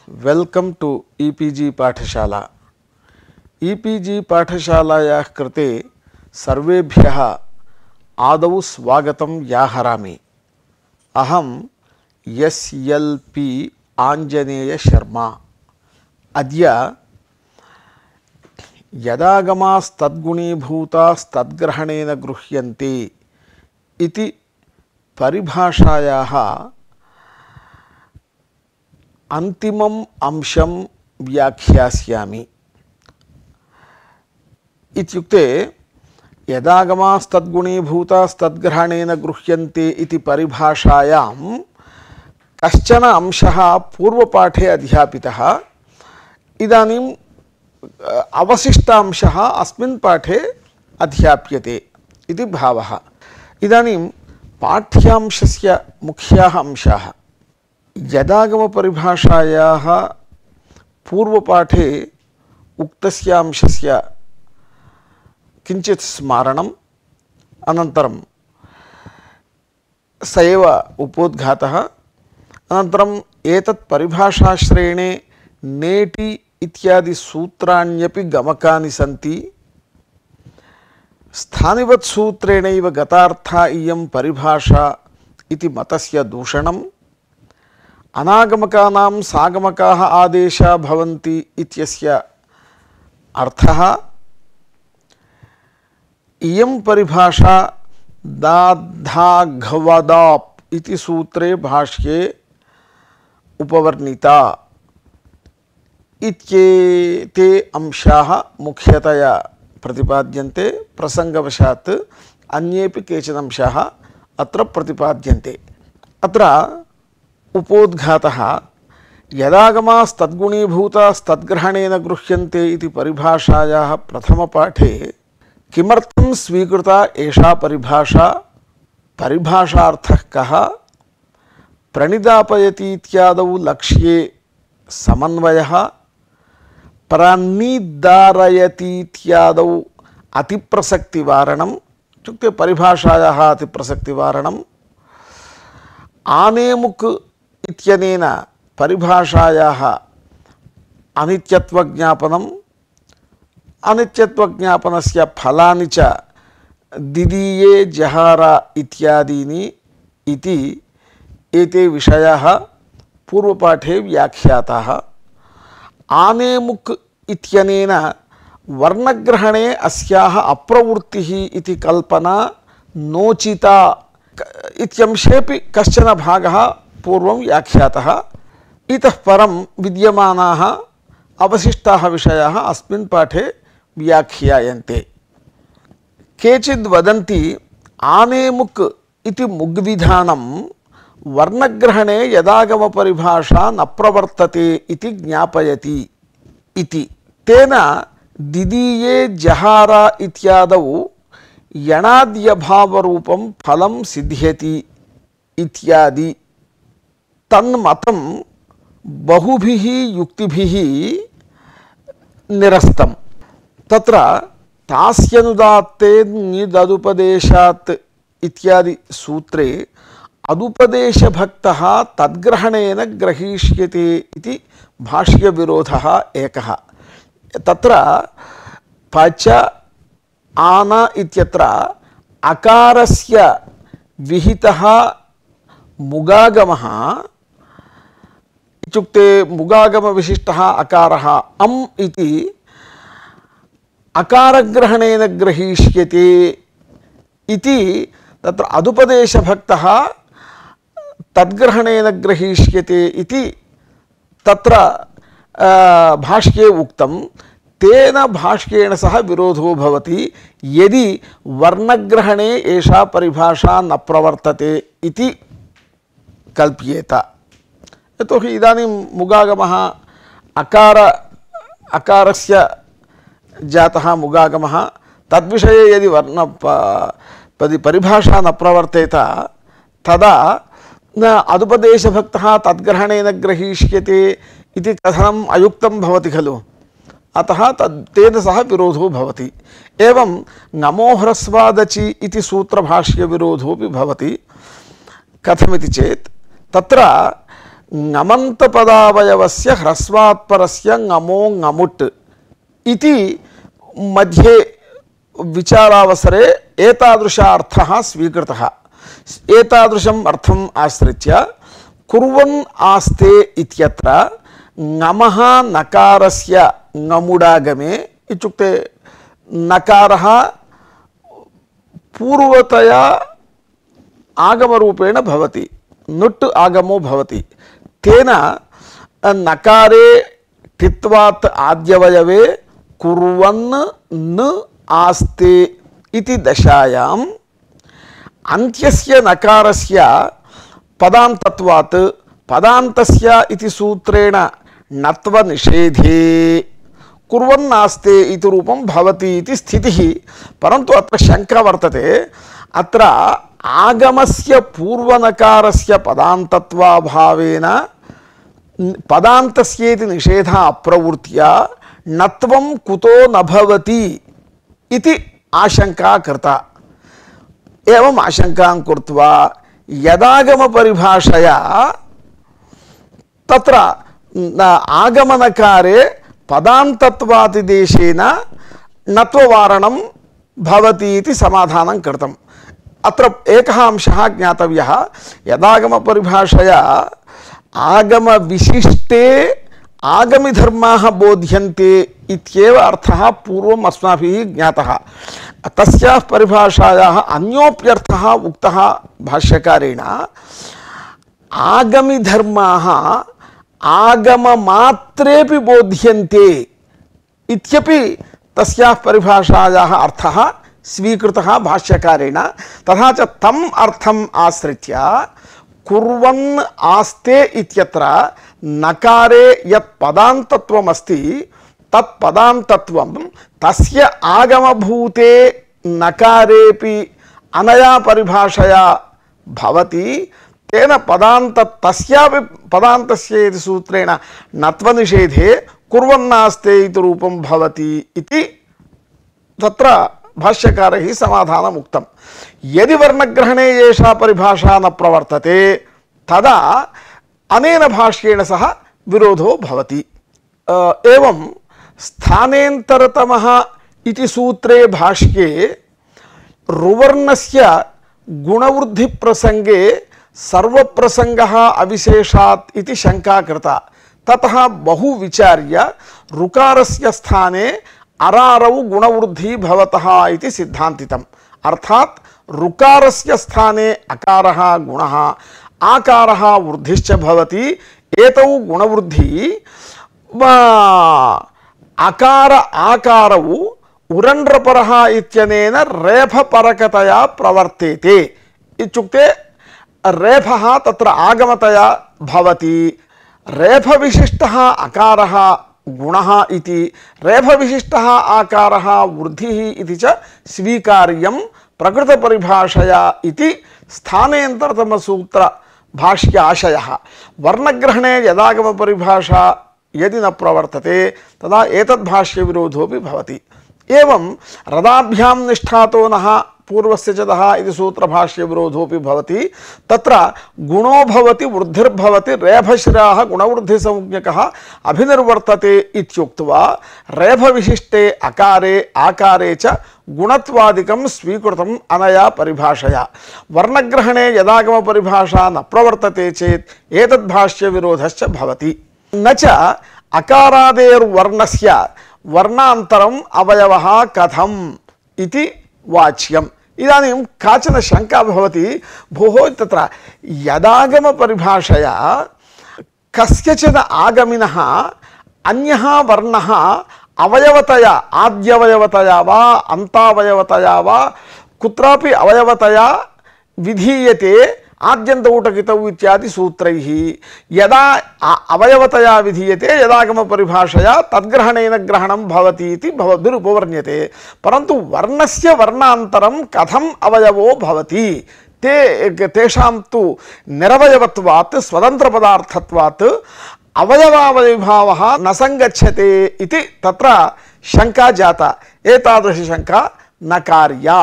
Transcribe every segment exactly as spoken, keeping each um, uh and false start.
Welcome to E P G Pathshala. E P जी पाठशालायाः कृते सर्वेभ्यः आदौ स्वागतं व्याहरामि। अहं S L P Anjaneya Sharma. अद्य यदागमास्तद्गुणीभूतास्तद्ग्रहणेन गृह्यन्ते इति परिभाषायाः अंतिमम् अंशं व्याख्यास्यामि। इत्युक्ते यदागमास्तद्गुणीभूतास्तद्ग्रहणेन गृह्यन्ते इति परिभाषायां कश्चन अंशः पूर्वपाठे अध्यापितः। इदानीम् अवशिष्टांशः अस्मिन् पाठे अध्याप्यते इति भावः। इदानीं पाठ्यांशस्य मुख्याः अंशाः। यदागम परिभाषायाः पूर्वपाठे उक्तस्य अंशस्य किञ्चित् स्मारणम्, अनन्तरं स एव उपोद्घातः, अनन्तरम् एतत् परिभाषाश्रयणे नेटि इत्यादि सूत्राण्यपि गमकानि सन्ति। स्थानिवत् सूत्रेणैव गतार्था इयं परिभाषा इति मतस्य दूषणम्, अनागमकानां सागमकाः आदेशा भवन्ति इत्यस्य अर्थः, इयं परिभाषा दाद्धाघवदाप् इति सूत्रे भाष्ये उपवर्णिता इत्येते अंशाः मुख्यतया प्रतिपाद्यन्ते। प्रसंगवशात् अन्येपि केचन अंशाः अत्र प्रतिपाद्यन्ते। अत्र उपोद्घातः यदागमास्तद्गुणीभूतास्तद्ग्रहणेन गृह्यन्ते इति परिभाषायाः प्रथमपाठे किमर्थं स्वीकृता एषा परिभाषा, परिभाषार्थः कः, प्रणिदापयति इत्यादौ लक्ष्ये समन्वयः, प्रान्निदारयति इत्यादौ अतिप्रसक्तिवारणम्, इत्युक्ते परिभाषायाः अतिप्रसक्तिवारणम्, आनेमुक् इत्यनेन परिभाषायाः अनित्यत्वज्ञापनम्, अनित्यत्वज्ञापनस्य फलानि च दिदीये जहारा इत्यादीनि इति एते विषयाः पूर्वपाठे व्याख्याताः। आनेमुक् इत्यनेन वर्णग्रहणे अस्याः अप्रवृत्तिः इति कल्पना नोचिता इत्यंशेऽपि कश्चन भागः पूर्वं व्याख्यातः। इतः परं विद्यमानाः अवशिष्टाः विषयाः अस्मिन् पाठे व्याख्यायन्ते। केचिद् वदन्ति आनेमुक् इति मुग्विधानं वर्णग्रहणे यदागमपरिभाषा न प्रवर्तते इति ज्ञापयति इति। तेन दिदीये जहारा इत्यादौ यणाद्यभावरूपं फलं सिद्ध्यति इत्यादि तन्मतं बहुभिः युक्तिभिः निरस्तम्। तत्र तास्यनुदात्ते निददुपदेशात् इत्यादि सूत्रे अदुपदेशभक्तः तद्ग्रहणेन ग्रहीष्यते इति भाष्यविरोधः एकः। तत्र पच आन इत्यत्र अकारस्य विहितः मुगागमः, इत्युक्ते मुगागमविशिष्टः अकारः अम् इति अकारग्रहणेन ग्रहीष्यते इति तत्र अदुपदेशभक्तः तद्ग्रहणेन ग्रहीष्यते इति तत्र भाष्ये उक्तं। तेन भाष्येण सह विरोधो भवति यदि वर्णग्रहणे एषा परिभाषा न प्रवर्तते इति कल्प्येत। यतोहि इदानीं मुगागमः अकार अकारस्य जातः मुगागमः, तद्विषये यदि वर्ण परिभाषा न प्रवर्तेत तदा न अदुपदेशभक्तः तद्ग्रहणेन ग्रहीष्यते इति कथनम् अयुक्तं भवति खलु। अतः तद् तेन सह विरोधो भवति। एवं नमोह्रस्वादचि इति सूत्रभाष्यविरोधोऽपि भवति। कथमिति चेत् तत्र ङमन्तपदावयवस्य ह्रस्वात्परस्य ङमो ङमुट् इति मध्ये विचारावसरे एतादृशार्थः स्वीकृतः। एतादृशम् अर्थम् आश्रित्य कुर्वन् आस्ते इत्यत्र ङमः नकारस्य ङमुडागमे इत्युक्ते नकारः पूर्वतया आगमरूपेण भवति, नुट् आगमो भवति। तेन नकारे टित्वात् आद्यवयवे कुर्वन् न आस्ते इति दशायाम् अन्त्यस्य नकारस्य पदान्तत्वात् पदान्तस्य इति सूत्रेण नत्वनिषेधे कुर्वन् आस्ते इति रूपं भवति इति स्थितिः। परन्तु अत्र शङ्का वर्तते, अत्र आगमस्य पूर्वनकारस्य पदान्तत्वाभावेन पदान्तस्येति निषेधः अप्रवृत्या नत्वं कुतो न भवति इति आशंका कृता। एवम् आशंकां कृत्वा यदागमपरिभाषया तत्र आगमनकारे पदान्तत्वादिदेशेन नत्ववारणं भवति इति समाधानं कृतम्। अत्र एकः अंशः ज्ञातव्यः, यदागमपरिभाषया आगमविशिष्टे आगमिधर्माः बोध्यन्ते इत्येव अर्थः पूर्वम् अस्माभिः ज्ञातः। तस्याः परिभाषायाः अन्योप्यर्थः उक्तः भाष्यकारेण, आगमिधर्माः आगममात्रेपि बोध्यन्ते इत्यपि तस्याः परिभाषायाः अर्थः स्वीकृतः भाष्यकारेण। तथा च तम् अर्थम् आश्रित्य कुर्वन् आस्ते इत्यत्र नकारे यत् पदान्तत्वमस्ति तत् पदान्तत्वं तस्य आगमभूते नकारेपि अनया परिभाषया भवति। तेन पदान्त तस्यापि पदान्तस्य इति सूत्रेण नत्वनिषेधे कुर्वन्नास्ते इति रूपं भवति इति तत्र भाष्यकारैः समाधानम् उक्तम्। यदि वर्णग्रहणे एषा परिभाषा न प्रवर्तते तदा अनेन भाष्येण सह विरोधो भवति। एवं स्थानेन्तरतमः इति सूत्रे भाष्ये रुवर्णस्य गुणवृद्धिप्रसंगे सर्वप्रसंगः अविशेषात् इति शंका कृता। ततः बहु विचार्य ऋकारस्य स्थाने अरारौ गुणवृद्धि भवतः इति सिद्धान्तितम्। अर्थात् ऋकारस्य स्थाने अकारः गुणः, आकारः वृद्धिश्च भवति। एतौ गुणवृद्धि अकार आकारौ उरण्ड्रपरः इत्यनेन रेफपरकतया प्रवर्तेते। इत्युक्ते रेफः तत्र आगमतया भवति। रेफविशिष्टः अकारः गुणः इति, रेफविशिष्टः आकारः वृद्धिः इति च स्वीकार्यं प्रकृतपरिभाषया इति स्थानेन्तरतमसूत्र भाष्य आशयः। वर्णग्रहणे यदागमपरिभाषा यदि न प्रवर्तते तदा एतद्भाष्य विरोधोऽपि भवति। एवं रदाभ्यां निष्ठातो नः पूर्वस्य च दः इति सूत्रभाष्य विरोधोऽपि भवति। तत्र गुणो भवति वृद्धिर्भवति रेफशिराः गुणवृद्धिसंज्ञकः अभिनिर्वर्तते इत्युक्त्वा रेफविशिष्टे अकारे आकारे च गुणत्वादिकं स्वीकृतम् अनया परिभाषया। वर्णग्रहणे यदागमपरिभाषा न प्रवर्तते चेत् एतद्भाष्य विरोधश्च भवति। न च अकारादेर्वर्णस्य वर्णान्तरम् अवयवः कथम् इति वाच्यम्। इदानीं काचन शंका भवति, भोः तत्र यदागमपरिभाषया कस्यचित् आगमिनः अन्यः वर्णः अवयवतया आद्यवयवतया वा अन्तावयवतया वा कुत्रापि अवयवतया विधीयते आद्यन्तौटकितौ इत्यादि सूत्रैः। यदा अवयवतया विधीयते यदागमपरिभाषया तद्ग्रहणेन ग्रहणं भवति इति भवद्भिरुपवर्ण्यते। परन्तु वर्णस्य वर्णान्तरं कथम् अवयवो भवति, ते तेषां तु निरवयवत्वात् स्वतन्त्रपदार्थत्वात् अवयवावयविभावः न संगच्छते इति तत्र शंका जाता। एतादृशी शंका न कार्या।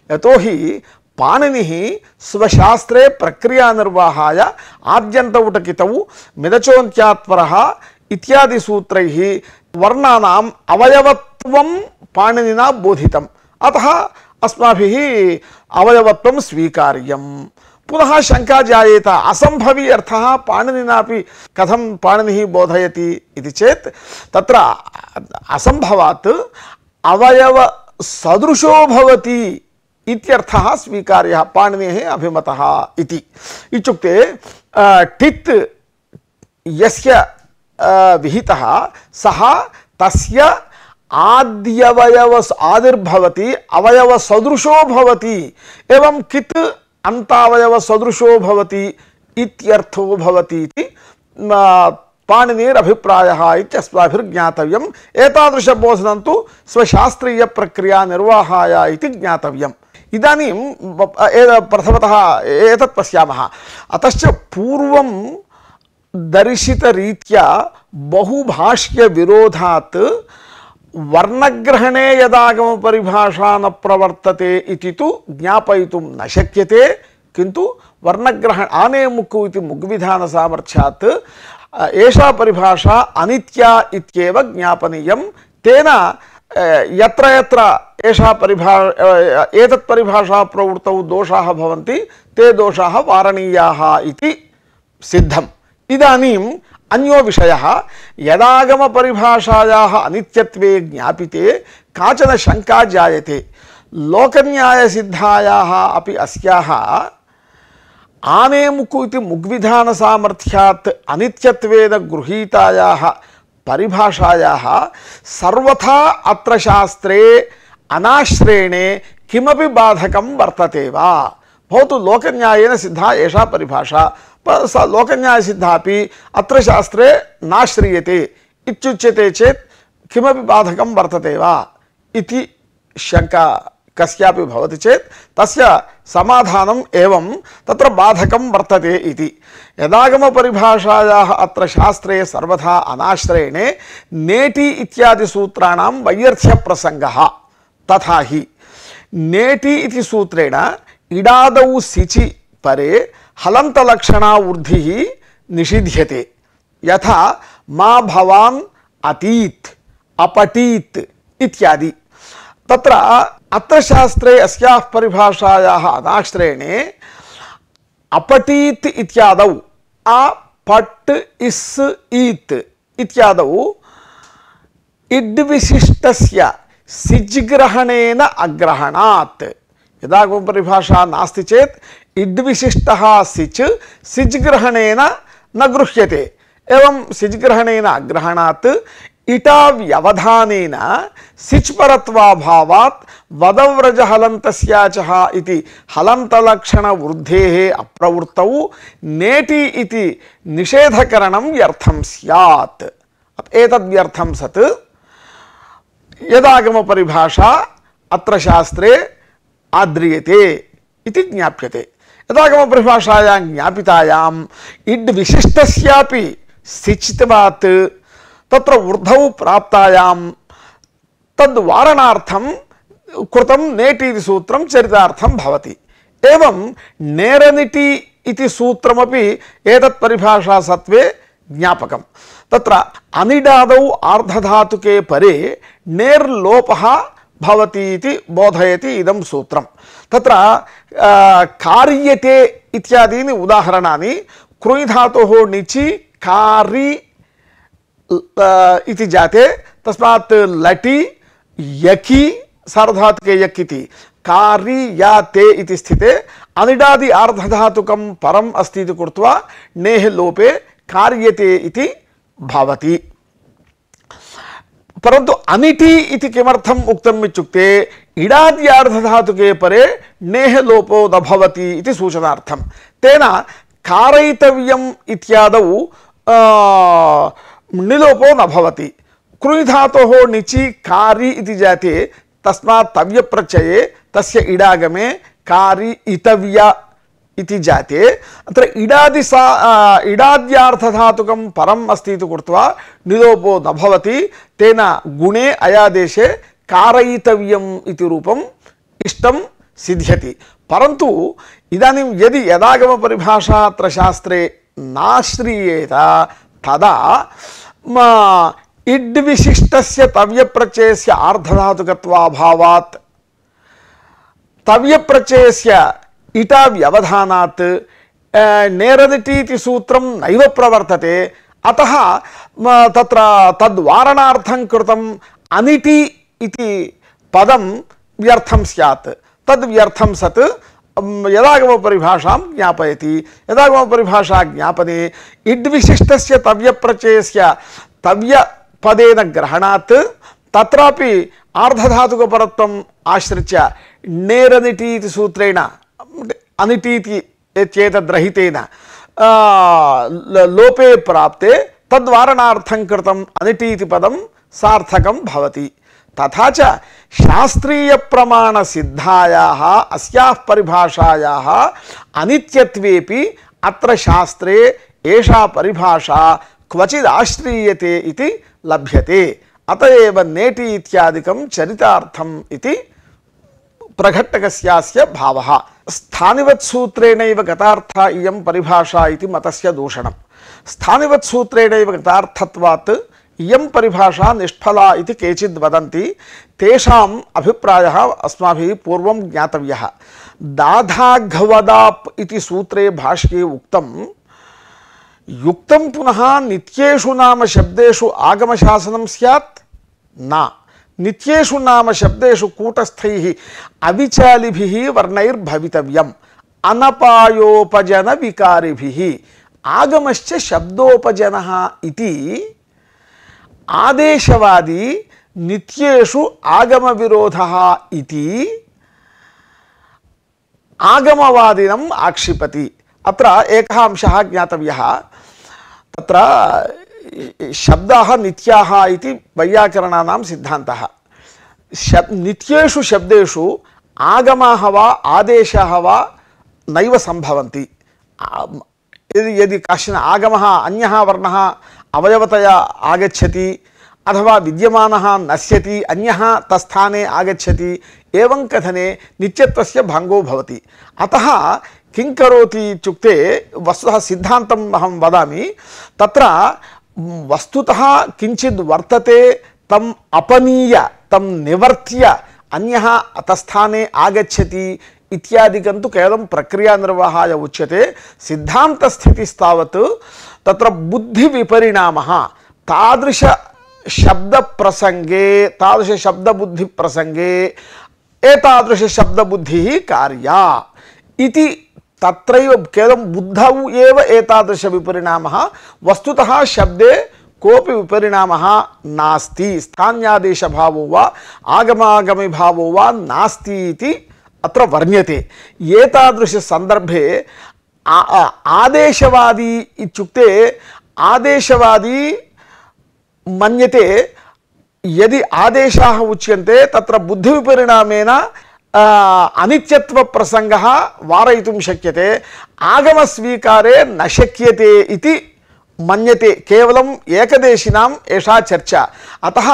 यतोहि पाणिनिः स्वशास्त्रे प्रक्रियानिर्वाहाय आद्यन्तौटकितौ मिदचोन्त्यात्परः इत्यादि सूत्रैः वर्णानाम् अवयवत्वं पाणिनिना बोधितम्। अतः अस्माभिः अवयवत्वं स्वीकार्यम्। पुनः शंका जायेत, असंभवी अर्थः पाणिनिनापि कथं पाणिनिः बोधयति इति चेत् तत्र असंभवात् अवयव सदृशो भवति इत्यर्थः स्वीकार्यः, पाणिनेः अभिमतः इति। इत्युक्ते टित् यस्य विहितः सः तस्य आद्यवयव आदिर्भवति अवयव सदृशो भवति, एवं कित् अंतावयव सदृशो भवति इत्यर्थो भवति इति पाणिनेरभिप्रायः इत्यस्माभिर्ज्ञातव्यम्। एतादृशबोधनं तु स्वशास्त्रीय प्रक्रिया निर्वाहाय इति ज्ञातव्यम्। इदानीं प्रथमतः एतत् पश्यामः। अतश्च पूर्वं दर्शितरीत्या बहुभाष्यविरोधात् वर्णग्रहणे यदागमपरिभाषा न प्रवर्तते इति तु ज्ञापयितुं न शक्यते, किन्तु वर्णग्रहण आने मुक्कु इति मुग्विधानसामर्थ्यात् एषा परिभाषा अनित्या इत्येव ज्ञापनीयं। तेन यत्र यत्र एषा परिभा एतत् परिभाषा प्रवृत्तौ दोषाः भवन्ति ते दोषाः वारणीयाः इति सिद्धम्। इदानीम् अन्यो विषयः, यदागम परिभाषायाः अनित्यत्वे ज्ञापिते काचन शंका जायते। लोकन्याय सिद्धायाः अपि अस्याः आनेमुकु इति मुग्विधान सामर्थ्यात् अनित्यत्वेन गृहीतायाः परिभाषायाः सर्वथा अत्र शास्त्रे अनाश्रयणे किमपि बाधकं वर्तते वा? भवतु लोकन्यायेन सिद्धा एषा परिभाषा, लोकन्याय सिद्धापि अत्र शास्त्रे नाश्रियते इत्युच्यते चेत् किमपि बाधकं वर्तते वा इति शंका कस्यापि भवति चेत् तस्य समाधानम् एवं तत्र बाधकं वर्तते इति। यदागम परिभाषायाः अत्र शास्त्रे सर्वथा अनाश्रयणे नेति इत्यादि सूत्राणां वैयर्थ्य प्रसंगः। तथा हि नेति इति सूत्रेण इडादौ सिचि परे हलन्तलक्षणा ऊर्धिः निषिध्यते। यथा मा भवान् अतीत् अपठीत् इत्यादि। तत्र अत्र शास्त्रे अस्याः परिभाषायाः अनाश्रयणे अपठीत् इत्यादौ अ पट् इस् ईत् इत्यादौ इड्विशिष्टस्य सिज्ग्रहणेन अग्रहणात्। यदागम परिभाषा नास्ति चेत् इड्विशिष्टः सिच् सिज्ग्रहणेन न गृह्यते। एवं सिज्ग्रहणेन अग्रहणात् इटा व्यवधानेन सिच् परत्वाभावात् वदव्रज हलन्तस्याचः इति हलन्तलक्षण वृद्धेः अप्रवृत्तौ नेति इति निषेधकरणं व्यर्थं स्यात्। एतद्व्यर्थं सत् यदागम परिभाषा अत्र शास्त्रे आद्रियते इति ज्ञाप्यते। यदागम परिभाषायां ज्ञापितायाम् इड् विशिष्टस्यापि सिच्त्वात् तत्र ऊर्ध्वौ प्राप्तायां तद्वारणार्थं कृतं नेति इति सूत्रं चरितार्थं भवति। एवं नेरनिटि इति सूत्रमपि एतत् परिभाषा सत्वे ज्ञापकं। तत्र अनिडादौ आर्धधातुके परे नेर्लोपः भवति इति बोधयति इदं सूत्रं। तत्र कार्यते इत्यादीनि उदाहरणानि क्रुञ् धातोः णिचि कारि इति जाते, तस्मात् लटि यकि सार्वधातुके यक् इति कारि या ते इति स्थिते अनिडादि आर्धधातुकं परम् अस्ति इति कृत्वा नेः लोपे कार्यते इति भवति। परन्तु अनिटि इति किमर्थम् उक्तम् इत्युक्ते इडाद्यार्धधातुके परे नेः लोपो न भवति इति सूचनार्थं। तेन कारयितव्यम् इत्यादौ निलोपो न भवति। क्रुञ् धातोः णिचि कारि इति जाते, तस्मात् तव्यप्रत्यये तस्य इडागमे कारि इतव्य इति जाते अत्र इडादि सा इडाद्यार्थधातुकं परम् अस्ति इति कृत्वा निलोपो न भवति। तेन गुणे अयादेशे कारयितव्यम् इति रूपम् इष्टं सिद्ध्यति। परन्तु इदानीं यदि यदागमपरिभाषा अत्र शास्त्रे नाश्रीयेत तदा इड्विशिष्टस्य तव्यप्रत्ययस्य आर्धधातुकत्वाभावात् तव्यप्रत्ययस्य इटा व्यवधानात् नेरदिटीति सूत्रं नैव प्रवर्तते। अतः तत्र तद्वारणार्थं कृतम् अनिटि इति पदं व्यर्थं स्यात्। तद् व्यर्थं सत् यदागमपरिभाषां ज्ञापयति। यदागमपरिभाषा ज्ञापने इड्विशिष्टस्य तव्यप्रत्ययस्य तव्यपदेन ग्रहणात् तत्रापि आर्धधातुकपरत्वम् आश्रित्य नेरनिटि इति सूत्रेण अनिटीति चेतद्रहितेन लोपे प्राप्ते तद्वारणार्थं कृतम् अनिटि इति पदं सार्थकं भवति। तथा च शास्त्रीय प्रमाण सिद्धायाः अस्याः परिभाषायाः अनित्यत्वेपि अत्र शास्त्रे एषा परिभाषा क्वचिद् आश्रीयते इति लभ्यते। अतएव नेटि इत्यादिकं चरितार्थम् इति प्रघट्टकस्यास्य भावः। स्थानिवत् सूत्रेणैव गतार्था इयं परिभाषा इति मतस्य दूषणम्। स्थानिवत् सूत्रेणैव गतार्थत्वात् इयं परिभाषा निष्फला इति केचिद् वदन्ति। तेषाम् अभिप्रायः अस्माभिः पूर्वं ज्ञातव्यः। दाधाघवदाप् इति सूत्रे भाष्ये उक्तं युक्तं पुनः नित्येषु नाम शब्देषु आगमशासनं स्यात् न। नित्येषु नाम शब्देषु कूटस्थैः अविचालिभिः वर्णैर्भवितव्यम् अनपायोपजन विकारिभिः। आगमश्च शब्दोपजनः इति आदेशवादी नित्येषु आगम विरोधः इति आगमवादिनम् आक्षिपति। अत्र एकः अंशः ज्ञातव्यः। तत्र शब्दाः नित्याः इति वैयाकरणानां सिद्धान्तः। शब् नित्येषु शब्देषु आगमाः वा आदेशाः वा नैव सम्भवन्ति। यदि यदि कश्चन आगमः अन्यः वर्णः अवयवतया आगच्छति अथवा विद्यमानः नश्यति अन्यः तत्स्थाने आगच्छति एवं कथने नित्यत्वस्य भङ्गो भवति। अतः किं करोति इत्युक्ते वस्तुतः सिद्धान्तम् अहं वदामि। तत्र वस्तुतः किञ्चित् वर्तते तम् अपनीय तं निवर्त्य अन्यः तत्स्थाने आगच्छति इत्यादिकं तु केवलं प्रक्रियानिर्वाहाय उच्यते। सिद्धान्तस्थितिस्तावत् तत्र बुद्धिविपरिणामः तादृश शब्दप्रसङ्गे तादृश शब्दबुद्धिप्रसङ्गे एतादृश शब्दबुद्धिः कार्या इति तत्रैव केवलं बुद्धौ एव एतादृश विपरिणामः। वस्तुतः शब्दे कोऽपि विपरिणामः नास्ति। स्थान्यादेशभावो वा आगमागमी भावो वा नास्ति इति अत्र वर्ण्यते। एतादृश सन्दर्भे आदेशवादी इत्युक्ते आदेशवादी मन्यते यदि आदेशाः उच्यन्ते तत्र बुद्धिविपरिणामेन अनित्यत्व प्रसंगः वारयितुं शक्यते, आगमस्वीकारे न शक्यते इति मन्यते। केवलम् एकदेशिनाम् एषा चर्चा। अतः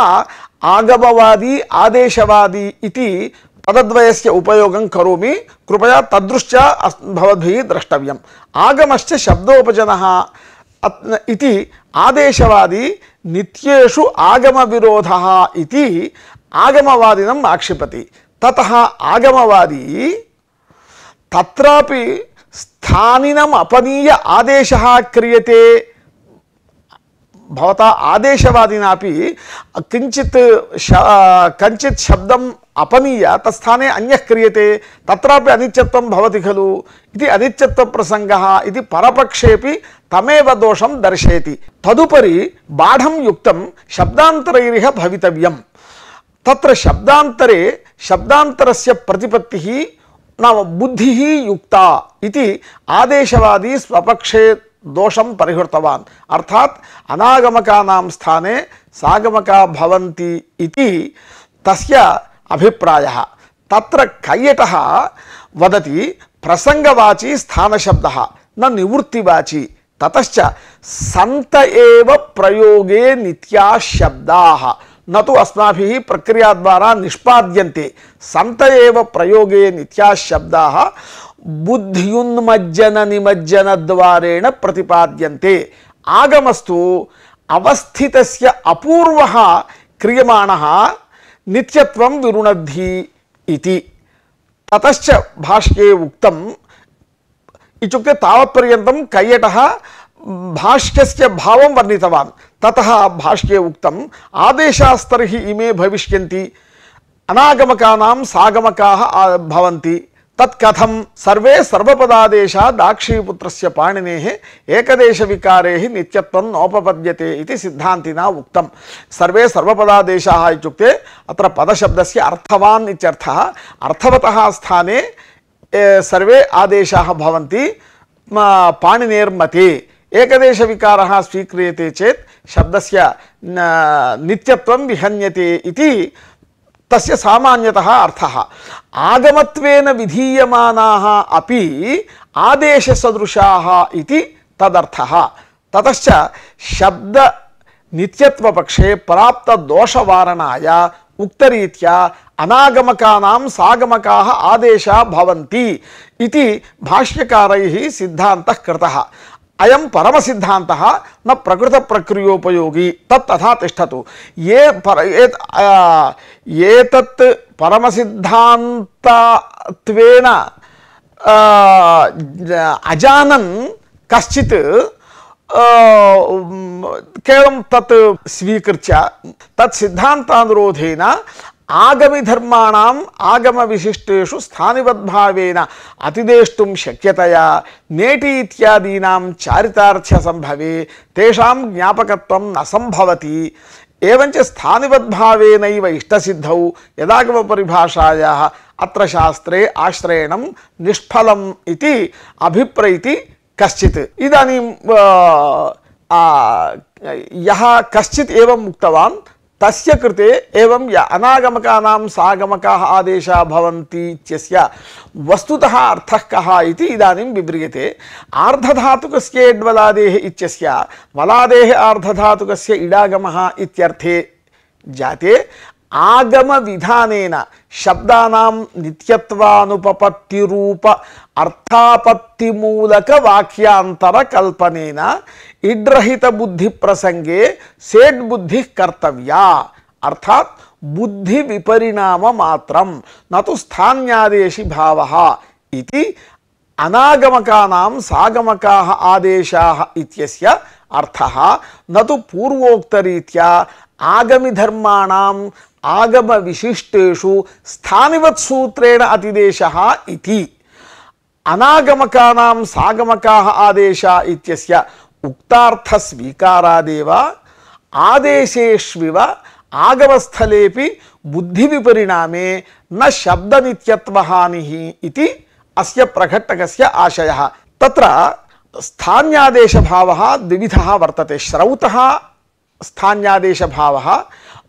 आगमवादी आदेशवादी इति पदद्वयस्य उपयोगं करोमि। कृपया तदृश्च भवद्भिः द्रष्टव्यम्। आगमश्च शब्दोपजनः इति आदेशवादी नित्येषु आगमविरोधः इति आगमवादिनम् आक्षिपति। ततः आगमवादी तत्रापि स्थानिनम् अपनीय आदेशः क्रियते। भवता आदेशवादिनापि किञ्चित् कञ्चित् शब्दम् अपनीय तत्स्थाने अन्यः क्रियते, तत्रापि अनित्यत्वं भवति खलु इति अनित्यत्वप्रसङ्गः इति परपक्षेपि तमेव दोषं दर्शयति। तदुपरि बाढं युक्तं शब्दान्तरैरिह भवितव्यम्। तत्र शब्दान्तरे शब्दान्तरस्य प्रतिपत्तिः नाम बुद्धिः युक्ता इति आदेशवादी स्वपक्षे दोषं परिहृतवान्। अर्थात् अनागमकानां स्थाने सागमका भवन्ति इति तस्य अभिप्रायः। तत्र कैयटः वदति प्रसंगवाची स्थानशब्दः न निवृत्तिवाची। ततश्च सन्त एव प्रयोगे नित्याः शब्दाः न तु अस्माभिः प्रक्रिया द्वारा निष्पाद्यन्ते सन्त एव प्रयोगे नित्याः शब्दाः बुद्ध्युन्मज्जन निमज्जन द्वारेण प्रतिपाद्यन्ते। आगमस्तु अवस्थितस्य अपूर्वः क्रियमाणः नित्यत्वं विरुणद्धि इति। ततश्च भाष्ये उक्तम् इत्युक्ते तावत्पर्यन्तं कैयटः भाष्यस्य भावं वर्णितवान्। ततः भाष्ये उक्तम् आदेशास्तर्हि इमे भविष्यन्ति अनागमकानां सागमकाः भवन्ति तत् कथं सर्वे सर्वपदादेशा दाक्षीपुत्रस्य पाणिनेः एकदेशविकारेः नित्यत्वं नोपपद्यते इति सिद्धान्तिना उक्तं। सर्वे सर्वपदादेशाः इत्युक्ते अत्र पदशब्दस्य अर्थवान् इत्यर्थः। अर्थवतः स्थाने सर्वे आदेशाः भवन्ति पाणिनेर्मते। एकदेशविकारः स्वीक्रियते चेत् शब्दस्य नित्यत्वं विहन्यते इति तस्य सामान्यतः अर्थः। आगमत्वेन विधीयमानाः अपि आदेशसदृशाः इति तदर्थः। ततश्च शब्द नित्यत्वपक्षे प्राप्त दोषवारणाय उक्तरीत्या अनागमकानां सागमकाः आदेशा भवन्ति इति भाष्यकारैः सिद्धान्तः कृतः। अयं परमसिद्धान्तः न प्रकृतप्रक्रियोपयोगी तत् तथा तिष्ठतु। ये पर एतत् परमसिद्धान्तत्वेन अजानन् कश्चित् केवलं तत् स्वीकृत्य तत् सिद्धान्तानुरोधेन आगमि धर्माणाम् आगम विशिष्टेषु स्थानिवद्भावेन अतिदेष्टुं शक्यतया नेटि इत्यादीनां चारितार्थ्य संभवे तेषां ज्ञापकत्वं न संभवति। एवञ्च स्थानिवद्भावेनैव इष्टसिद्धौ यदागम परिभाषायाः अत्र शास्त्रे आश्रयणं निष्फलम् इति अभिप्रैति कश्चित्। इदानीं यः कश्चित् एवं उक्तवान् तस्य कृते एवं य अनागमकानां सागमकाः आदेशाः भवन्ति इत्यस्य वस्तुतः अर्थः कः इति इदानीं विव्रियते। आर्धधातुकस्य एड्वलादेः इत्यस्य वलादेः आर्धधातुकस्य इडागमः इत्यर्थे जाते आगम विधानेन शब्दानां नित्यत्वानुपपत्तिरूप अर्थापत्तिमूलक वाक्यांतर कल्पनेन इड्रहित बुद्धि प्रसंगे सेड बुद्धि कर्तव्या अर्थात बुद्धि विपरिणाम मात्रम न तो स्थान्यादेशि भावः इति अनागमकानां सागमकाः आदेशाः इत्यस्य अर्थः न तो पूर्वोक्तरीत्या आगमि धर्माणां आगम विशिष्टेषु स्थानिवत् सूत्रेण अतिदेशः इति। अनागमकानां सागमकाः आदेशा इत्यस्य उक्तार्थ स्वीकारादेव आदेशेष्विव आगमस्थलेपि बुद्धि विपरिणामे न शब्द नित्यत्वहानिः इति अस्य प्रघट्टकस्य आशयः। तत्र स्थान्यादेश भावः द्विविधः वर्तते। श्रौतः स्थान्यादेश भावः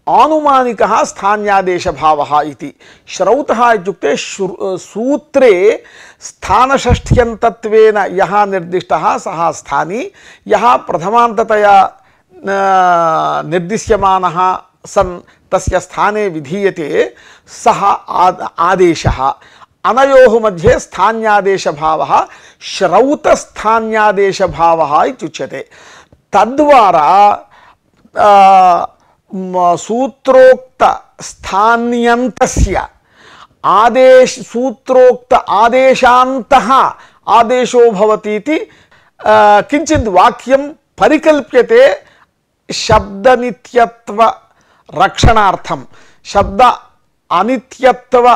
आनुमानिकः स्थान्यादेश भावः इति। श्रौतः इत्युक्ते सूत्रे स्थानषष्ठ्यन्तत्वेन यः निर्दिष्टः सः स्थानी, यः प्रथमान्ततया निर्दिश्यमानः सन् तस्य स्थाने विधीयते सः आदेशः। अनयोः मध्ये स्थान्यादेश भावः श्रौतस्थान्यादेश भावः इत्युच्यते। तद्वारा सूत्रोक्त स्थान्यन्तस्य आदेश सूत्रोक्त आदेशान्तः आदेशो भवति इति किञ्चित् वाक्यं परिकल्प्यते शब्द नित्यत्व रक्षणार्थं, शब्द अनित्यत्व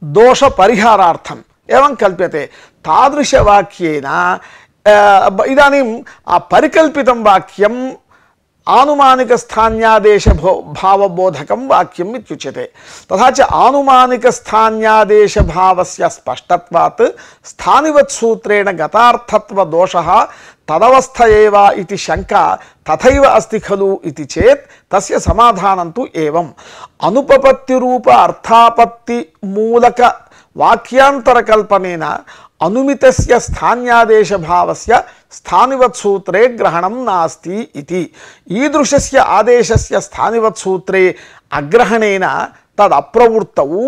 दोष परिहारार्थम् एवं कल्प्यते। तादृशवाक्येन इदानीं परिकल्पितं वाक्यं आनुमानिक स्थान्यादेश भावबोधकं वाक्यम् इत्युच्यते। तथा च आनुमानिक स्थान्यादेश भावस्य स्पष्टत्वात् स्थानिवत् सूत्रेण गतार्थत्व दोषः तदवस्थ एव इति शंका तथैव अस्ति खलु इति चेत् तस्य समाधानं तु एवम्। अनुपपत्ति रूप अर्थापत्ति मूलक वाक्यांतर कल्पनेन अनुमितस्य स्थान्यादेशभावस्य स्थानिवत्सूत्रे ग्रहणं नास्ति इति। ईदृशस्य आदेशस्य स्थानिवत्सूत्रे अग्रहणेन तद् अप्रवृत्तौ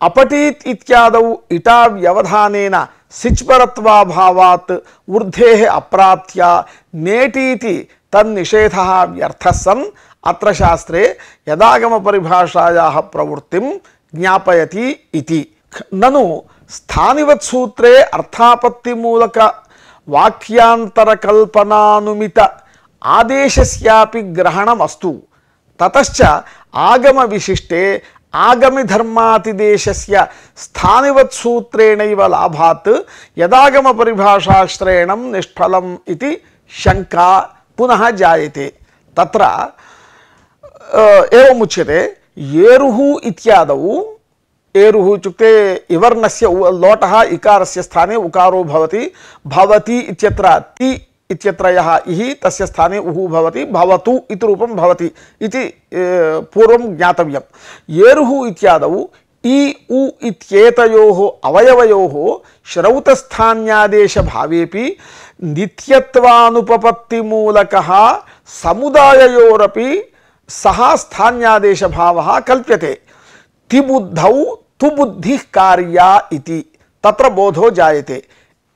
अपठीत् इत्यादौ इटा व्यवधानेन सिच्परत्वाभावात् ऊर्धेः अप्राप्त्य नेटीति तन्निषेधः व्यर्थः सन् अत्र शास्त्रे यदागमपरिभाषायाः प्रवृत्तिं ज्ञापयति इति। ननु स्थानिवत्सूत्रे अर्थापत्तिमूलक वाक्यान्तरकल्पनानुमित आदेशस्यापि ग्रहणमस्तु। ततश्च आगमविशिष्टे आगमिधर्मातिदेशस्य स्थानिवत्सूत्रेणैव लाभात् यदागमपरिभाषाश्रयणं निष्फलम् इति शङ्का पुनः जायते। तत्र एवमुच्यते येरुः इत्यादौ एरुः इत्युक्ते इवर्णस्य लोटः इकारस्य स्थाने उकारो भवति। भवति इत्यत्र ति इत्यत्र यः इहि तस्य स्थाने उः भवति। भवतु इति रूपं भवति इति पूर्वं ज्ञातव्यम्। येरुः इत्यादौ इ उ इत्येतयोः अवयवयोः श्रौतस्थान्यादेशभावेपि नित्यत्वानुपपत्तिमूलकः समुदाययोरपि सः स्थान्यादेशभावः कल्प्यते। तिबुद्धौ तुबुद्धिः कार्या इति तत्र बोधो जायते।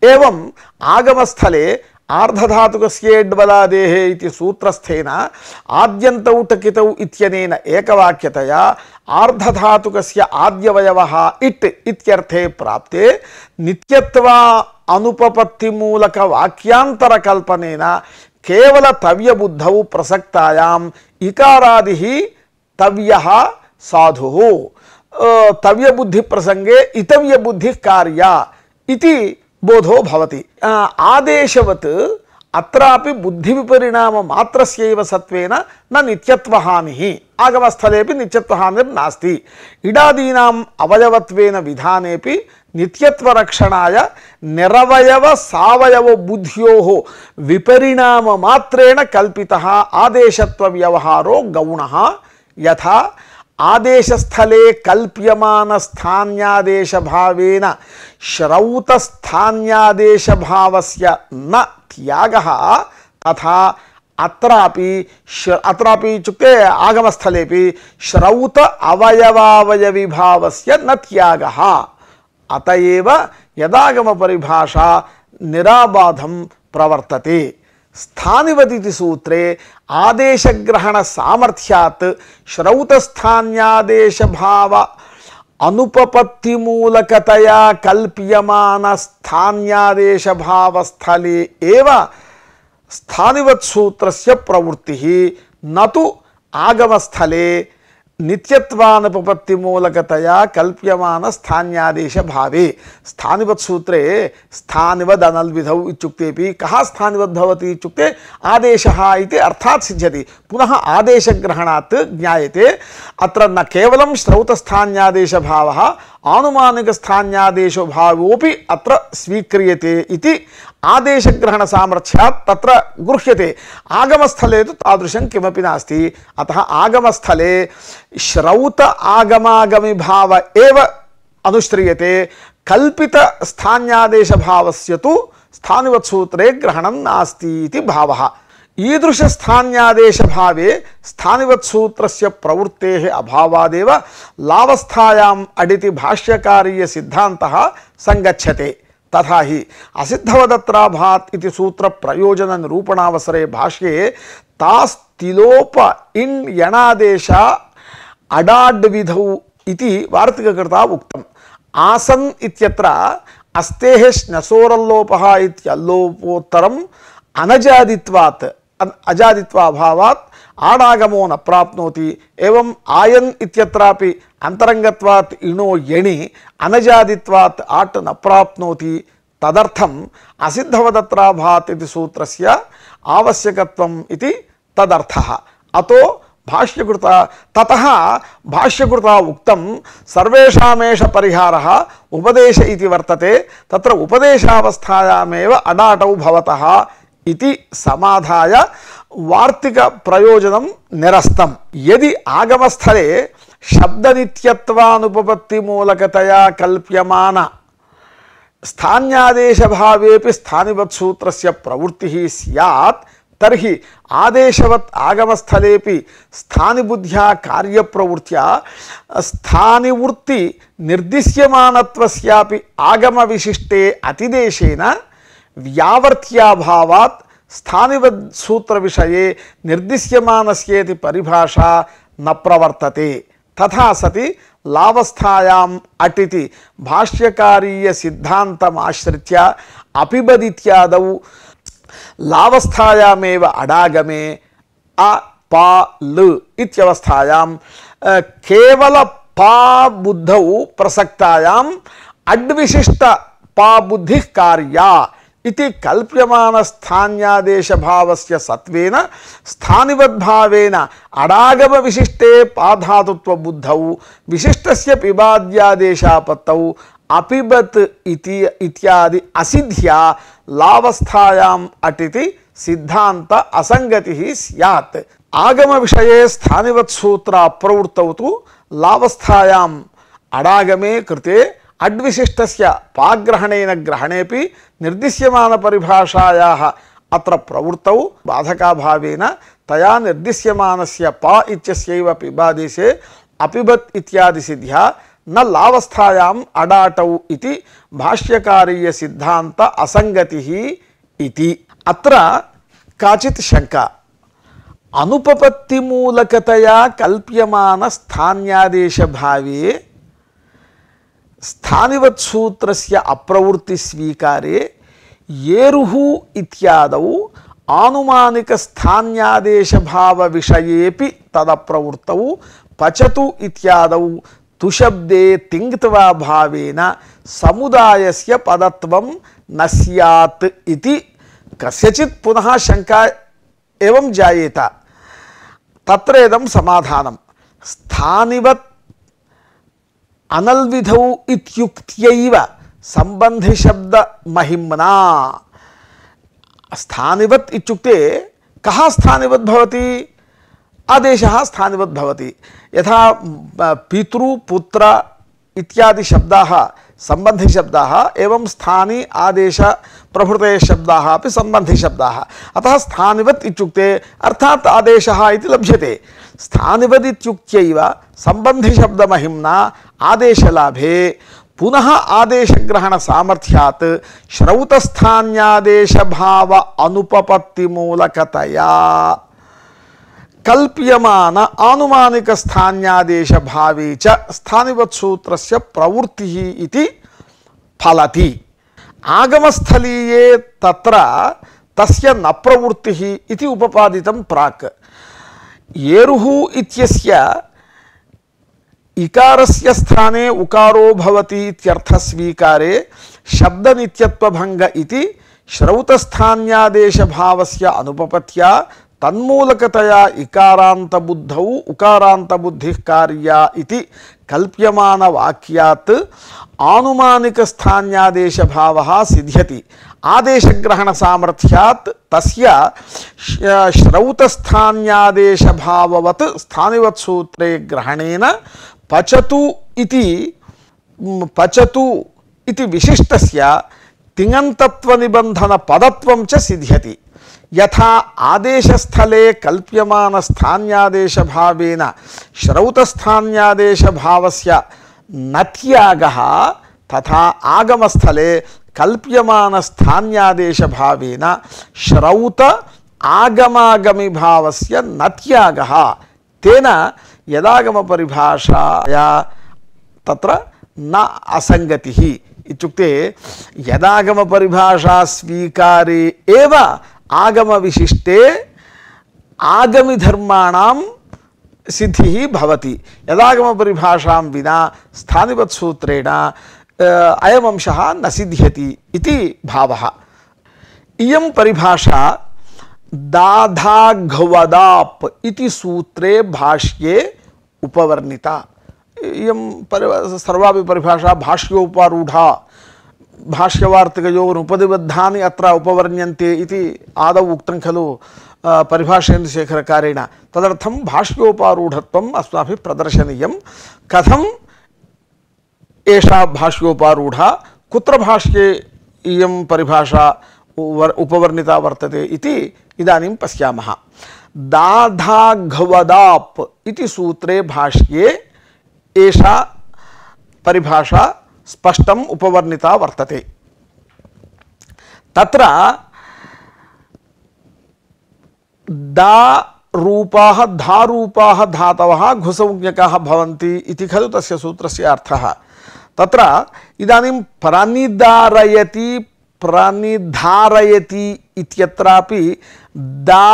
एवं आगमस्थले आर्धधातुकस्येड्बलादेः इति सूत्रस्थेन आद्यन्तौ टकितौ इत्यनेन एकवाक्यतया आर्धधातुकस्य आद्यवयवः इट् इत्यर्थे प्राप्ते नित्यत्वा अनुपपत्तिमूलक वाक्यान्तरकल्पनेन केवल तव्यबुद्धौ प्रसक्तायाम् इकारादिः तव्यः साधुः तव्यबुद्धि प्रसंगे इतव्यबुद्धिः कार्या इति बोधो भवति। आदेशवत् अत्रापि बुद्धिविपरिणाम मात्रस्यैव सत्वेन न नित्यत्वहानिः आगमस्थलेपि नित्यत्वहानिर्नास्ति। इडादीनाम् अवयवत्वेन विधानेपि नित्यत्वरक्षणाय निरवयव सावयव बुद्ध्योः विपरिणाम मात्रेण कल्पितः आदेशत्व व्यवहारो गौणः। यथा आदेशस्थले कल्प्यमान स्थान्यादेश भावेन श्रौतस्थान्यादेश भावस्य न त्यागः तथा अत्रापि अत्रापि इत्युक्ते आगमस्थलेपि श्रौत अवयवावयवी भावस्य न त्यागः। अतएव यदागम परिभाषा निराबाधं प्रवर्तते। स्थानिवदिति सूत्रे आदेशग्रहण सामर्थ्यात् श्रौतस्थान्यादेश भाव अनुपपत्तिमूलकतया कल्प्यमान स्थान्यादेश भावस्थले एव स्थानिवत् सूत्रस्य प्रवृत्तिः न तु आगमस्थले नित्यत्वानुपपत्तिमूलकतया कल्प्यमान स्थान्यादेश भावे। स्थानिवत् सूत्रे स्थानिवद् अनल्विधौ इत्युक्तेपि कः स्थानिवद् भवति इत्युक्ते आदेशः इति अर्थात् सिद्ध्यति। पुनः आदेशग्रहणात् ज्ञायते अत्र न केवलं श्रौतस्थान्यादेश भावः आनुमानिक स्थान्यादेशो भावोपि अत्र स्वीक्रियते इति आदेशग्रहण सामर्थ्यात् तत्र गृह्यते। आगमस्थले तु तादृशं किमपि नास्ति। अतः आगमस्थले श्रौत आगमागमी भाव एव अनुश्रियते। कल्पित स्थान्यादेश भावस्य तु स्थानिवत् सूत्रे ग्रहणं नास्ति इति भावः। ईदृश स्थान्यादेश भावे स्थानिवत् सूत्रस्य प्रवृत्तेः अभावादेव लावस्थायाम् अडिति भाष्यकारीय सिद्धान्तः संगच्छते। तथा ही असिद्धवदत्राभात् इति सूत्र प्रयोजन निरूपणावसरे भाष्ये तास्तिलोप इन् यणादेश अडाड्विधौ इति वार्तिककृता उक्तम्। आसन् इत्यत्र अस्तेः श्नसोरल्लोपः इत्यल्लोपोत्तरम् अनजादित्वात् अजादित्वाभावात् आडागमो न प्राप्नोति। एवं आयन् इत्यत्रापि अंतरंगत्वात् इणो यणि अनजादित्वात् आट् न प्राप्नोति। तदर्थम् असिद्धवदत्राभात् इति सूत्रस्य आवश्यकत्वम् इति तदर्थः। अतो भाष्यकृता ततः भाष्यकृता उक्तं सर्वेषामेष परिहारः उपदेश इति वर्तते। तत्र उपदेशावस्थायामेव अडाटौ भवतः इति समाधाय वार्तिक प्रयोजनं निरस्तम्। यदि आगमस्थले शब्दनित्यत्वानुपपत्तिमूलकतया कल्प्यमान स्थान्यादेशभावेपि स्थानिवत्सूत्रस्य प्रवृत्तिः स्यात् तर्हि आदेशवत् आगमस्थलेपि स्थानिबुद्ध्या कार्यप्रवृत्त्या स्थानिवृत्ति निर्दिश्यमानत्वस्यापि आगमविशिष्टे अतिदेशेन व्यावर्त्याभावात् स्थानिवत् सूत्रविषये निर्दिश्यमानस्येति परिभाषा न प्रवर्तते। तथा सति लावस्थायाम् अटिति भाष्यकारीय सिद्धान्तमाश्रित्य अपिबदित्यादौ लावस्थायामेव अडागमे अ पा ल इत्यवस्थायां केवल पा बुद्धौ प्रसक्तायाम् अड्विशिष्ट पा बुद्धिः कार्या इति कल्प्यमान स्थान्यादेश भावस्य सत्वेन स्थानिवद्भावेन अडागम विशिष्टे पाधातुत्व बुद्धौ विशिष्टस्य पिबाद्यादेशापत्तौ अपिबत् इति इत्यादि असिद्ध्या लावस्थायाम् अटिति सिद्धांत असंगतिः स्यात्। आगम विषये स्थानिवत् सूत्र अप्रवृत्तौ तु लावस्थायाम् अडागमे कृते अड्विशिष्टस्य पाग्रहणेन ग्रहणेपि निर्दिश्यमान परिभाषायाः अत्र प्रवृत्तौ बाधकाभावेन तया निर्दिश्यमानस्य पा इत्यस्यैव पिबादेशे अपिबत् इत्यादि सिद्ध्या न लावस्थायाम् अडाटौ इति भाष्यकारीय सिद्धांत असंगतिः इति। अत्र काचित् शंका। अनुपपत्तिमूलकतया कल्प्यमान स्थान्यादेश भावे स्थानिवत् सूत्रस्य अप्रवृत्ति स्वीकारे येरुः इत्यादौ आनुमानिक स्थान्यादेश भाव विषयेपि तदप्रवृत्तौ पचतु इत्यादौ तुशब्दे तिङ्त्वा भावेन समुदायस्य पदत्वं न स्यात् इति कस्यचित् पुनः शंका एवं जायेत। तत्र इदं समाधानं। स्थानिवत् अनल्विधौ इत्युक्त्यैव संबंधि शब्द महिम्ना। स्थानिवत् इत्युक्ते कः स्थानिवत् भवति? आदेशः स्थानिवत् भवति। यथा पितृ पुत्र इत्यादि शब्दाः संबंधि शब्दाः एवं स्थानी आदेश प्रभृतयः शब्दाः अपि संबंधि शब्दाः। अतः स्थानिवत् इत्युक्ते अर्थात् आदेशः इति लभ्यते। स्थानिवत् इत्युक्त्यैव संबंधि शब्द महिम्ना आदेशलाभे पुनः आदेशग्रहण सामर्थ्यात् श्रौतस्थान्यादेश भाव अनुपपत्तिमूलकतया कल्प्यमान आनुमानिक स्थान्यादेश भावे च स्थानिवत् सूत्रस्य प्रवृत्तिः इति फलति। आगमस्थलीये तत्र तस्य न प्रवृत्तिः इति उपपादितं प्राक्। येरुः इत्यस्य इकारस्य स्थाने उकारो भवति इत्यर्थ स्वीकारे शब्दनित्यत्वभंग इति श्रौतस्थान्यादेश भावस्य अनुपपत्या तन्मूलकतया इकारांत बुद्धौ उकारांत बुद्धिः कार्या इति कल्प्यमान वाक्यात् आनुमानिक स्थान्यादेश भावः सिद्ध्यति। आदेशग्रहण सामर्थ्यात् तस्य श्रौतस्थान्यादेश भाववत् स्थानिवत् सूत्रे ग्रहणेन पचतु इति पचतु इति विशिष्टस्य तिङन्तत्व निबंधन पदत्वं च सिद्ध्यति। यथा आदेशस्थले कल्प्यमान स्थान्यादेश भावेन श्रौतस्थान्यादेश भावस्य न त्यागः तथा आगमस्थले कल्प्यमान स्थान्यादेश भावेन श्रौत आगमागमी भावस्य न त्यागः। तेन यदागम परिभाषाया तत्र न असंगतिः इत्युक्ते यदागम परिभाषा स्वीकारे एव आगम विशिष्टे आगमी धर्माणां सिद्धिः भवति। यदागम परिभाषां विना स्थानिवत् सूत्रेण अयम् अंशः न सिद्ध्यति इति भावः। इयं परिभाषा दाधाघ्वदाप् इति सूत्रे भाष्ये उपवर्णिता। इयं सर्वापि परिभाषा भाष्योपारूढा। भाष्यवार्तिकयोः उपनिबद्धानि अत्र उपवर्ण्यन्ते इति आदौ उक्तं खलु परिभाषेन्द्रशेखरकारेण। तदर्थं भाष्योपारूढत्वम् अस्माभिः प्रदर्शनीयं। कथम् एषा भाष्योपारूढा कुत्र भाष्ये इयं परिभाषा उपवर्णिता वर्तते इति इदानीं पश्यामः। दाधाघवदाप् इति सूत्रे भाष्ये एषा परिभाषा स्पष्टम् उपवर्णिता वर्तते। तत्र दा रूपाः धारूपाः धातवः घुसंज्ञकाः भवन्ति इति खलु तस्य सूत्रस्य अर्थः। तत्र इदानीं प्रानिदारयति प्रानिधारयति इत्यत्रापि दा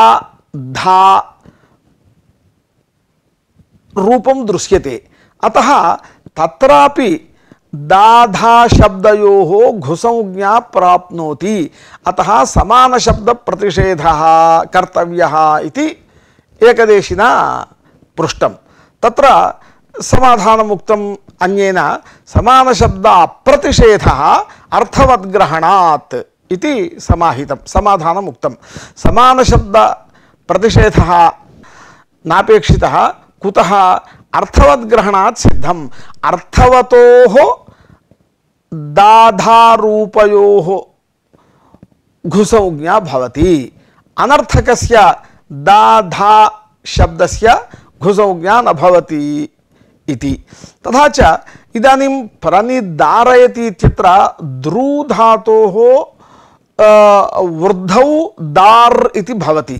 धा रूपं दृश्यते। अतः तत्रापि दाधा शब्दयोः घुसंज्ञा प्राप्नोति। अतः समान शब्द प्रतिषेधः कर्तव्यः इति एकदेशिना पृष्टं। तत्र समाधानमुक्तम् अन्येन समान शब्द अप्रतिषेधः अर्थवद्ग्रहणात् इति समाहितं समाधानमुक्तं। समान शब्द प्रतिषेधः नापेक्षितः कुतः अर्थवद्ग्रहणात् सिद्धम्। अर्थवतोः दाधारूपयोः घुसंज्ञा भवति, अनर्थकस्य दाधा शब्दस्य घुसंज्ञा न भवति इति। तथा च इदानीं प्रानिदारयति इत्यत्र द्रू धातोः वृद्धौ दार् इति भवति।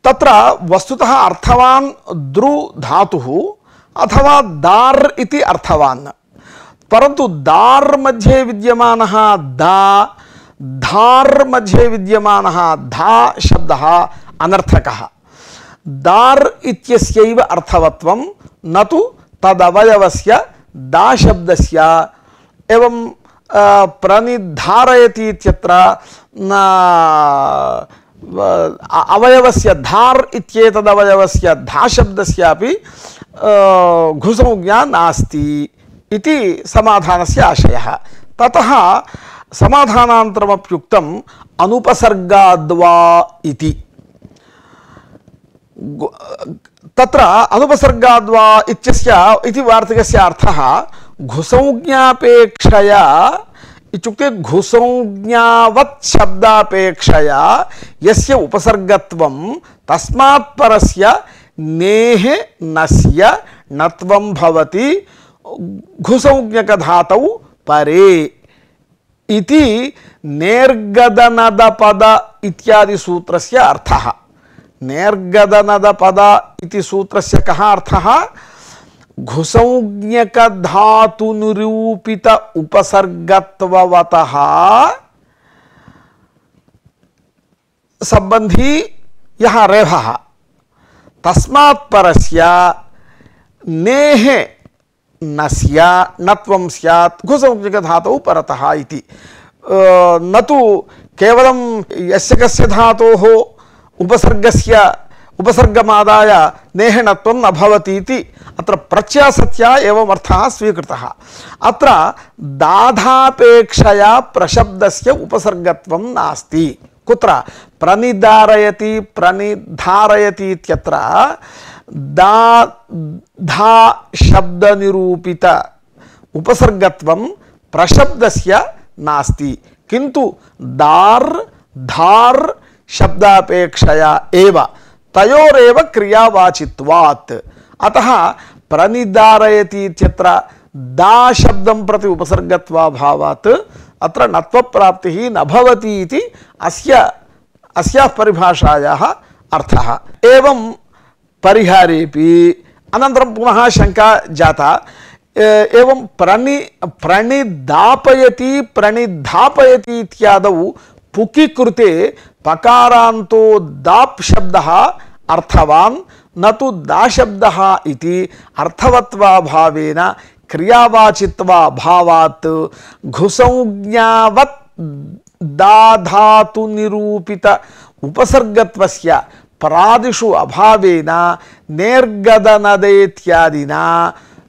तत्र वस्तुतः अर्थवान् द्रु धातुः अथवा दार् इति अर्थवान्, परन्तु दार् मध्ये विद्यमानः दा धार् मध्ये विद्यमानः धा शब्दः अनर्थकः। दार् इत्यस्यैव अर्थवत्वं न तु तदवयवस्य दा शब्दस्य। एवं प्रानिधारयति इत्यत्र अवयवस्य धार् इत्येतदवयवस्य धा शब्दस्यापि घुसंज्ञा नास्ति इति समाधानस्य आशयः। ततः समाधानान्तरमप्युक्तम् अनुपसर्गाद्वा इति। तत्र अनुपसर्गाद्वा इत्यस्य इति वार्तिकस्य अर्थः घुसंज्ञापेक्षया इत्युक्ते घुसंज्ञावत् शब्दापेक्षया यस्य उपसर्गत्वं तस्मात् परस्य नेः नस्य नत्वं भवति घुसंज्ञकधातौ परे इति नेर्गदनदपद इत्यादि सूत्रस्य अर्थः। नेर्गदनदपद इति सूत्रस्य कः अर्थः? घुसंज्ञक धातु निरूपित उपसर्गत्ववतः संबंधी यह रेफः तस्मात् परस्य नेः नस्य नत्वं स्यात् घुसंज्ञक धातौ परतः इति। न तु केवलं यस्य कस्य धातोः उपसर्गस्य उपसर्गमादाय नेहनत्वं न भवति इति अत्र प्रत्यासत्या एवं अर्थः स्वीकृतः। अत्र दाधापेक्षया प्रशब्दस्य उपसर्गत्वं नास्ति। कुत्र? प्रनिदारयति प्रनिधारयति इत्यत्र दा धा शब्द निरूपित उपसर्गत्वं प्रशब्दस्य नास्ति, किन्तु दार् धार् शब्दापेक्षया एव तयोरेव क्रियावाचित्वात्। अतः प्रनिदारयति इत्यत्र दा शब्दं प्रति उपसर्गत्वाभावात् अत्र नत्वप्राप्तिः न भवति इति अस्य अस्याः परिभाषायाः अर्थः। एवं परिहारेपि अनन्तरं पुनः शङ्का जाता। एवं प्रणि प्रणिदापयति प्रणिधापयति इत्यादौ पुकि कृते पकारान्तो दाप् शब्दः अर्थवान् न तु दा शब्दः इति अर्थवत्वाभावेन क्रियावाचित्वाभावात् घुसंज्ञावत् दाधातु निरूपित उपसर्गत्वस्य परादिषु अभावेन नेर्गदनदेत्यादिना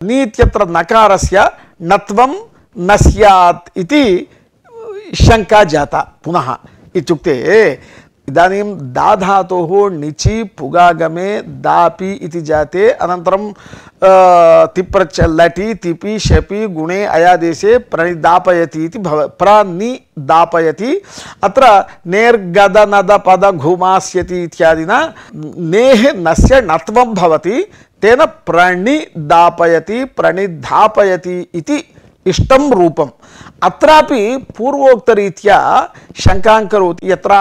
नीत्यत्र नकारस्य नत्वं न स्यात् इति शङ्का जाता। पुनः इत्युक्ते इदानीं दा धातोः णिचि पुगागमे दापि इति जाते अनन्तरं तिप्रच्छ लटि तिपि शपि गुणे अयादेशे प्रणिदापयति इति भव प्रणिदापयति अत्र नेर्गद नद पद घुमास्यति इत्यादिना नेः नस्य नत्वं भवति तेन प्रणिदापयति प्रणिधापयति इति इष्टं रूपम् अत्रापि पूर्वोक्तरीत्या शङ्कां करोति यत्र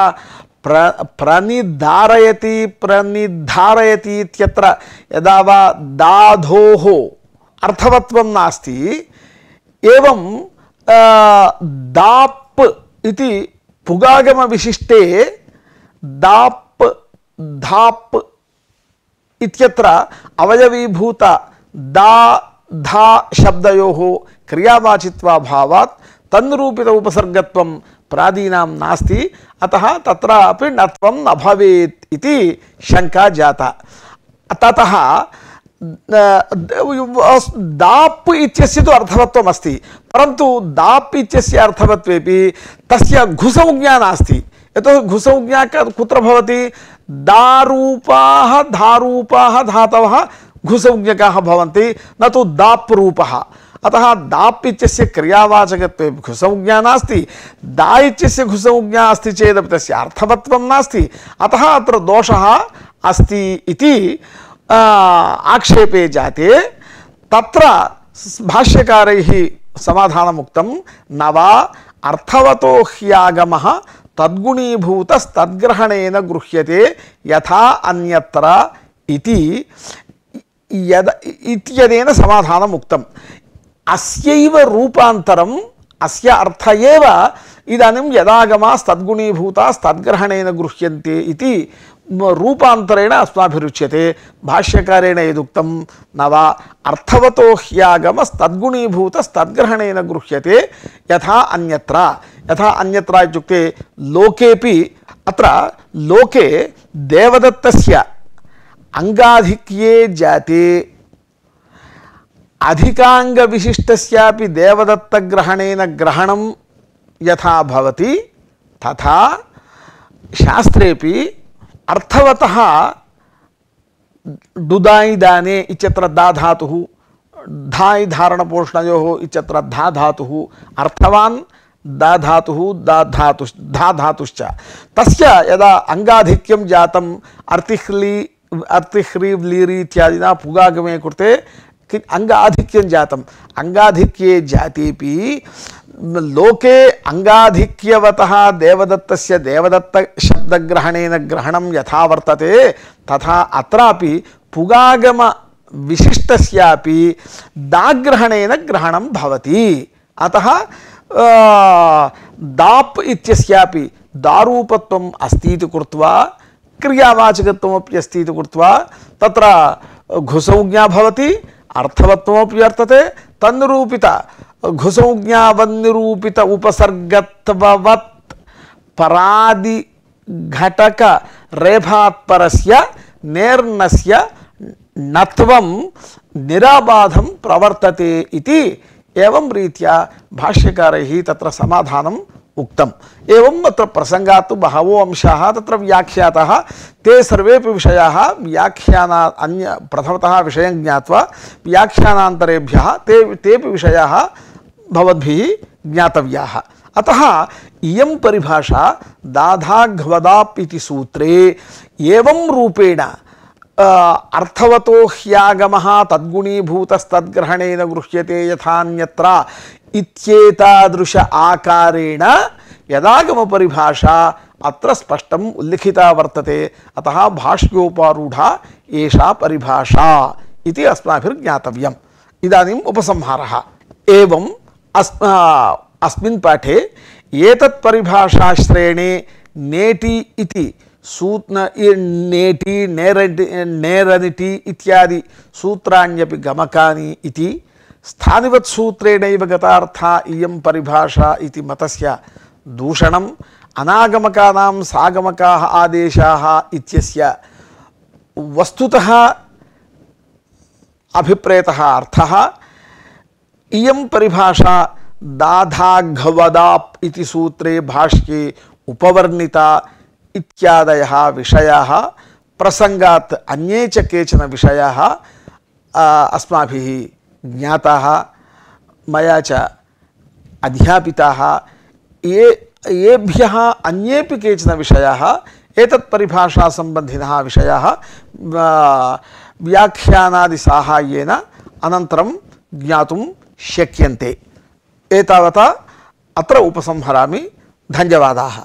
प्र प्रणिधारयति प्रणिधारयति इत्यत्र यदा वा धाधोः अर्थवत्वं नास्ति एवं दाप् इति पुगागम विशिष्टे दाप् धाप् इत्यत्र अवयवीभूत दा धा शब्दयोः क्रियावाचित्वाभावात् तन्निरूपित उपसर्गत्वं प्रादीनां नास्ति अतः तत्रापि नत्वं न भवेत् इति शंका जाता ततः दाप् इत्यस्य तु अर्थवत्वम् अस्ति परन्तु दाप् इत्यस्य अर्थवत्वेपि तस्य घुसंज्ञा नास्ति यतोहि घुसंज्ञा कुत्र भवति दारूपाः धारूपाः धातवः घुसंज्ञकाः भवन्ति न तु दाप् रूपः अतः दाप् इत्यस्य क्रियावाचकत्वे घुसंज्ञा नास्ति दा इत्यस्य घुसंज्ञा अस्ति चेदपि तस्य अर्थवत्वं नास्ति अतः अत्र दोषः अस्ति इति आक्षेपे जाते तत्र भाष्यकारैः समाधानमुक्तं न वा अर्थवतो ह्यागमः तद्गुणीभूतस्तद्ग्रहणेन गृह्यते यथा अन्यत्र इति यद इत्यनेन समाधानम् उक्तम् अस्यैव रूपान्तरम् अस्य अर्थ एव इदानीं यदागमास्तद्गुणीभूतास्तद्ग्रहणेन गृह्यन्ते इति रूपान्तरेण अस्माभिरुच्यते भाष्यकारेण यदुक्तं न वा अर्थवतो ह्यागमस्तद्गुणीभूतस्तद्ग्रहणेन गृह्यते यथा अन्यत्र यथा अन्यत्र इत्युक्ते लोकेपि अत्र लोके देवदत्तस्य अंगाधिक्ये जाते अधिकांग विशिष्टस्यापि देवदत्त ग्रहणेन ग्रहणं यथा भवति तथा शास्त्रेपि अर्थवतः डुदाई दाने इत्यत्र दा धातुः धाई धारणपोषणयोः इत्यत्र धा धातुः अर्थवान् दा धातुः दा धातु धा धातुश्च तस्य यदा अंगाधिक्यं जातम् अर्तिह्ली अर्तिह्री व्लीरी इत्यादिना पुगागमे कृते अंगाधिक्यं जातम् अंगाधिक्ये जातेपि लोके अंगाधिक्यवतः देवदत्तस्य देवदत्त शब्दग्रहणेन ग्रहणं यथा वर्तते तथा अत्रापि पुगागम विशिष्टस्यापि दाग्रहणेन ग्रहणं भवति अतः दाप् इत्यस्यापि दारूपत्वम् अस्ति इति कृत्वा क्रियावाचकत्वमपि अस्ति इति कृत्वा तत्र घुसंज्ञा भवति अर्थवत्वमपि वर्तते तन्निरूपित घुसंज्ञावन्निरूपित उपसर्गत्ववत् परादि घटक रेफात्परस्य नेर्नस्य नत्वं निराबाधं प्रवर्तते इति एवं रीत्या भाष्यकारैः तत्र समाधानम् उक्तम् एवं अत्र प्रसंगात् तु बहवो अंशाः तत्र व्याख्याताः ते सर्वेपि विषयाः व्याख्याना अन्य प्रथमतः विषयं ज्ञात्वा व्याख्यानान्तरेभ्यः ते तेपि विषयाः भवद्भिः ज्ञातव्याः अतः इयं परिभाषा दाधाघ्वदाप् इति सूत्रे एवं रूपेण अर्थवतो ह्यागमः तद्गुणीभूतस्तद्ग्रहणेन गृह्यते यथान्यत्र इत्येतादृश आकारेण यदागम परिभाषा अत्र स्पष्टम् उल्लिखिता वर्तते अतः भाष्योपारूढा एषा परिभाषा इति अस्माभिर्ज्ञातव्यम् इदानीम् उपसंहारः एवं अस्मिन् पाठे एतत् परिभाषाश्रेणे नेटि इति सूत्र नेटि नेरटि नेरनिटि इत्यादि सूत्राण्यपि गमकानि इति स्थानिवत् सूत्रेणैव गतार्था इयं परिभाषा इति मतस्य दूषणम् अनागमकानां सागमकाः आदेशाः इत्यस्य वस्तुतः अभिप्रेतः अर्थः इयं परिभाषा दाधाघवदाप् इति सूत्रे भाष्ये उपवर्णिता इत्यादयः विषयाः प्रसंगात् अन्ये च केचन विषयाः अस्माभिः ज्ञाताः मया च अध्यापिताः ये येभ्यः अन्येपि केचन विषयाः एतत् परिभाषा सम्बन्धिनः विषयाः व्याख्यानादि साहाय्येन अनन्तरं ज्ञातुं शक्यन्ते। एतावता अत्र उपसंहरामि। धन्यवादाः।